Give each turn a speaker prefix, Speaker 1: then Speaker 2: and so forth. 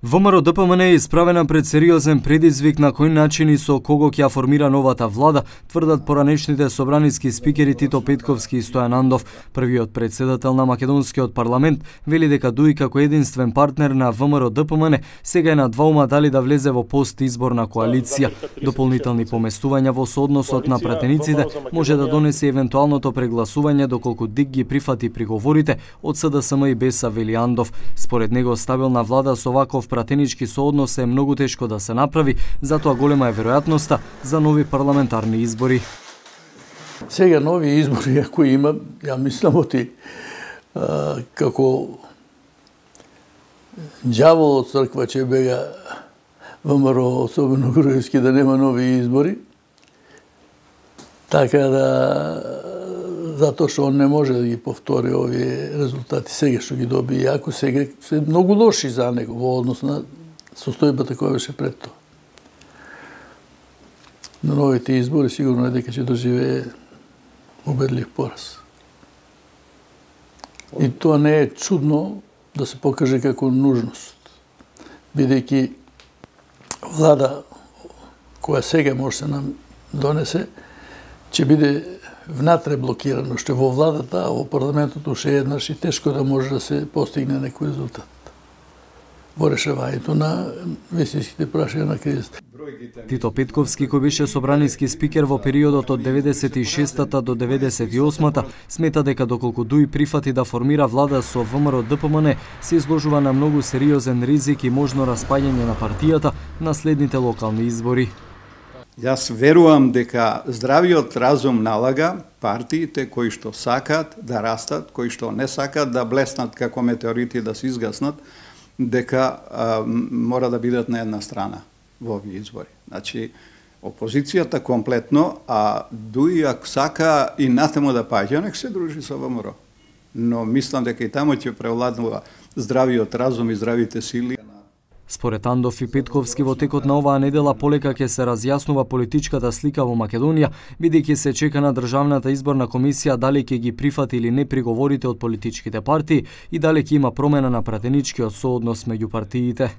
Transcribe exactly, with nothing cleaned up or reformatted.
Speaker 1: ВМРО-ДПМН е исправена пред сериозен предизвик на кој начин и со кого ќе ја формира новата влада, тврдат поранешните собраниски спикери Тито Петковски и Стојан Андов. Првиот претседател на македонскиот парламент вели дека дуи како единствен партнер на ВМРО-ДПМН сега е на дваума дали да влезе во постизборна коалиција. Дополнителни поместувања во соодносот на пратениците може да донесе евентуалното прегласување доколку ДИК ги прифати приговорите од СДСМ и БЕСА, вели Андов. Според него стабилна влада со ваков пратенички сооднос е многу тешко да се направи, затоа голема е веројатноста за нови парламентарни избори.
Speaker 2: Сега нови избори, ако има, ја мислам оти а, како ѓавол од црква ќе бега ВМРО, особено Груевски, да нема нови избори. Така да, затоа што он не може да ги повтори овие резултати сега што ги доби, иако сега се многу лоши за него во однос на состојбата која беше пред тоа. На новите избори сигурно е дека ќе доживее убедлив пораз. И тоа не е чудно да се покаже како нужност, бидејќи влада која сега може се нам донесе, ќе биде внатре блокирано, што во владата, а во парламентот уште еднаш и тешко да може да се постигне некој резултат во решавањето на вистинските прашања на кризата.
Speaker 1: Тито Петковски, кој беше собраниски спикер во периодот од деветдесет и шестата до деветдесет и осмата, смета дека доколку ДУИ прифати да формира влада со ВМРО-ДПМН, се изложува на многу сериозен ризик и можно распаѓање на партијата на следните локални избори.
Speaker 3: Јас верувам дека здравиот разум налага партиите кои што сакаат да растат, кои што не сакаат да блеснат како метеорити да се изгаснат, дека а, мора да бидат на една страна во овие избори. Значи, опозицијата комплетно, а ДУИ ако сака и натаму да паѓа, нек се дружи со ВМРО. Но мислам дека и таму ќе превладнува здравиот разум и здравите сили.
Speaker 1: Според Андов и Петковски, во текот на оваа недела полека ќе се разјаснува политичката слика во Македонија, бидејќи се чека на Државната изборна комисија дали ќе ги прифати или не приговорите од политичките партии и дали ќе има промена на пратеничкиот сооднос меѓу партиите.